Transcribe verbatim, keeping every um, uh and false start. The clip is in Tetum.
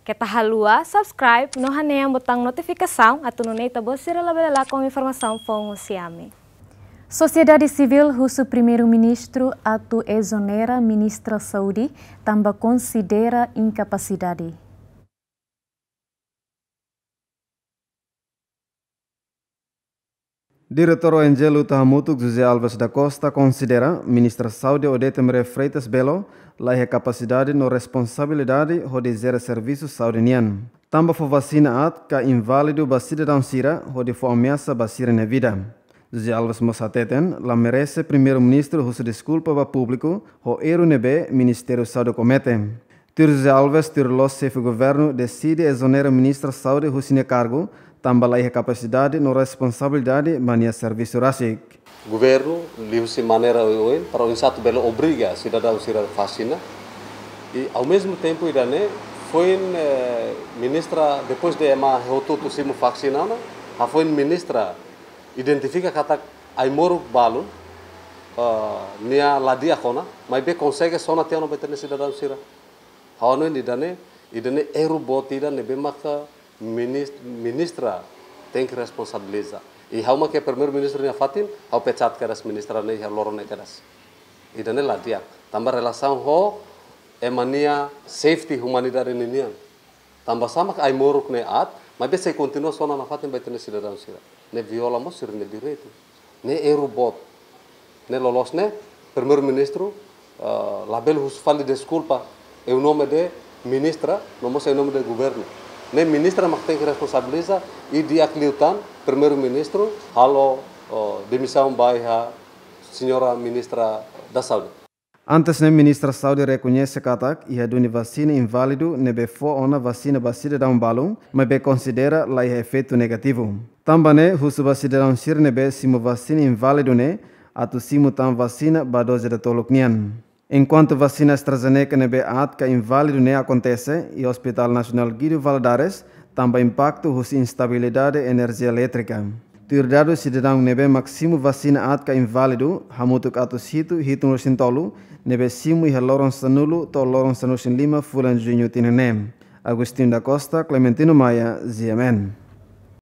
Keta haluha subscribe no hanehan butaun notifikasaun atu nune'e ita-boot sira labele lakon informasaun foun husi ami. Sosiedade sivíl husu Primeiru-Ministru atu ezonera Ministra Saúde tanba konsidera inkapasidade. Diretór O N G Luta Hamutuk José Alves da Costa konsidera Ministra Saúde Odete Maria Freitas Belo la iha kapasidade no responsabilidade hodi jere servisu saúde nian. Tanba fó vasina aat ka inválidu ba sidadaun sira hodi fó ameasa ba sira-nia vida. José Alves mós hateten la merese Primeiru-Ministru husu deskulpa ba públiku ho erru ne'ebé Ministériu Saúde komete. Tuir José Alves, tuir loos Xefe Governu deside ezonera Ministra Saúde husi nia kargu, tanba la iha kapasidade no responsabilidade ba nia servisu rasik. Governu liuhusi maneira oioin para oinsá atu bele obriga sidadaun sira vasina. I ao mesmo tempo ida-ne'e foin, eh, ministra, depois de ema hotu-hotu simu vasina ona, hafoin ministra identifika katak ai-moruk balu, eh, nia la di'ak ona, maibé konsege sona tiha ona ba ita-nia sidadaun sira. Ha'u hanoin ida-ne'e, ida-ne'e erru boot ida ne'ebé maka minis-, ministra tenke responsabiliza. I ha'u mak iha Primeiru-Ministru nia fatin, ha'u pecat kedas ministra ne'e iha loron ne'e kedas. Ida-ne'e la di'ak. Tanba relasaun ho ema nia safety, humanidade ninian. Tanba sá mak ai-moruk ne'e aat, maibé sei kontinua sona nafatin ba ita-nia sidadaun sira. Ne'e viola mós sira-nia direitu. Ne'e erru boot. Ne'e loloos ne'e, Primeiru-Ministru, eh, labele husu fali deskulpa em nome de ministra, no mós em nome de governu. Ne'e ministra mak tenke responsabiliza i di'ak liután Primeiru-Ministru halo, eh, demisaun ba iha Señora Ministra da Saúde. Antes ne'e Ministra Saúde rekoñese katak iha duni vasina inválidu ne'ebé fó ona vasina ba sidadaun balu, maibé konsidera la iha efeitu negativu. Tanba ne'e husu ba sidadaun sira ne'ebé simu vasina inválidu ne'e atu simu tan vasina ba doze datoluk nian. Enkuantu vasina AstraZeneca ne'ebé aat ka inválidu ne'e akontese iha Hospital Nasionál Guido Valadares, tanba impaktu husi instabilidade enerjia elétrika. Tuir dadus sidadaun ne'ebé mak simu vasina aat ka inválidu, hamutuk atus hitu hitunulu resin tolu, ne'ebé simu iha loron sanulu to'o loron sanulu resin lima fulan Juñu tinan ne'e. Agostinho da Costa, Clementino Maia, G M N.